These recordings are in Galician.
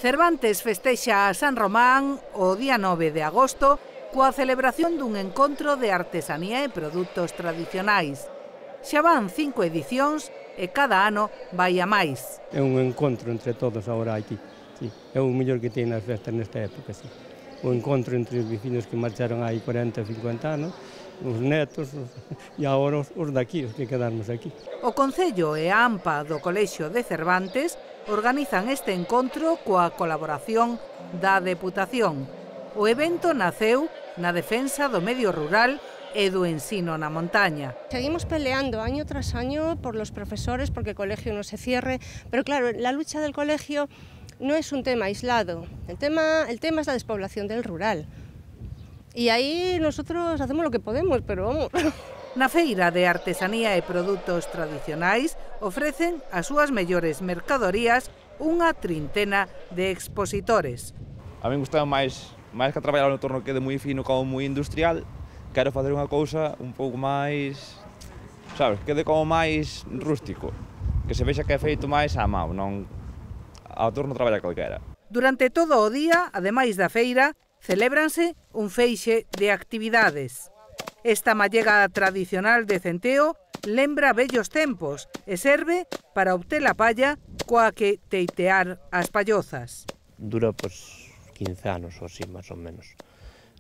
Cervantes festexa a San Román o día 9 de agosto coa celebración dun encontro de artesanía e produtos tradicionais. Xa van 5 edicións e cada ano vai a máis. É un encontro entre todos agora aquí. Sí. É o mellor que ten as festas nesta época. Sí. O encontro entre os vecinos que marcharon hai 40 ou 50 anos, os netos e agora os daqui, os que quedarmos aquí. O Concello e a AMPA do Colexio de Cervantes organizan este encontro coa colaboración da Deputación. O evento naceu na defensa do medio rural e do ensino na montaña. Seguimos peleando año tras año por los profesores porque el colegio no se cierre, pero claro, la lucha del colegio no es un tema aislado, el tema es la despoblación del rural. Y ahí nosotros hacemos lo que podemos, pero vamos. Na feira de artesanía e produtos tradicionais ofrecen as súas mellores mercadorías unha trintena de expositores. A mí gustaba máis que traballar no torno que de moi fino como moi industrial, quero facer unha cousa un pouco máis, sabes, quede como máis rústico, que se vexa que é feito máis á mão, non ao torno traballa calquera. Durante todo o día, ademais da feira, celébranse un feixe de actividades. Esta mallega tradicional de centeo lembra vellos tempos e serve para obter a palla coa que teitear as pallozas. Dura 15 anos ou así, máis ou menos.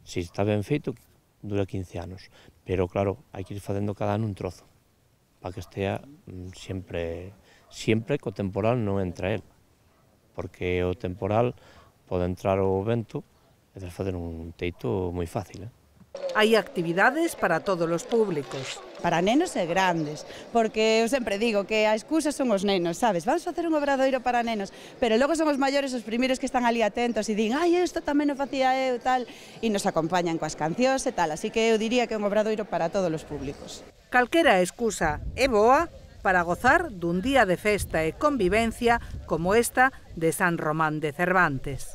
Se está ben feito, dura 15 anos. Pero claro, hai que ir facendo cada ano un trozo, para que estea sempre que o temporal non entra el. Porque o temporal pode entrar o vento e facer un teito moi fácil. Hai actividades para todos os públicos. Para nenos e grandes, porque eu sempre digo que a excusa son os nenos, sabes? Vamos facer un obradoiro para nenos, pero logo son os maiores os primeiros que están ali atentos e din ai, isto tamén o facía eu, tal, e nos acompañan coas cancións e tal, así que eu diría que é un obradoiro para todos os públicos. Calquera excusa é boa para gozar dun día de festa e convivencia como esta de San Román de Cervantes.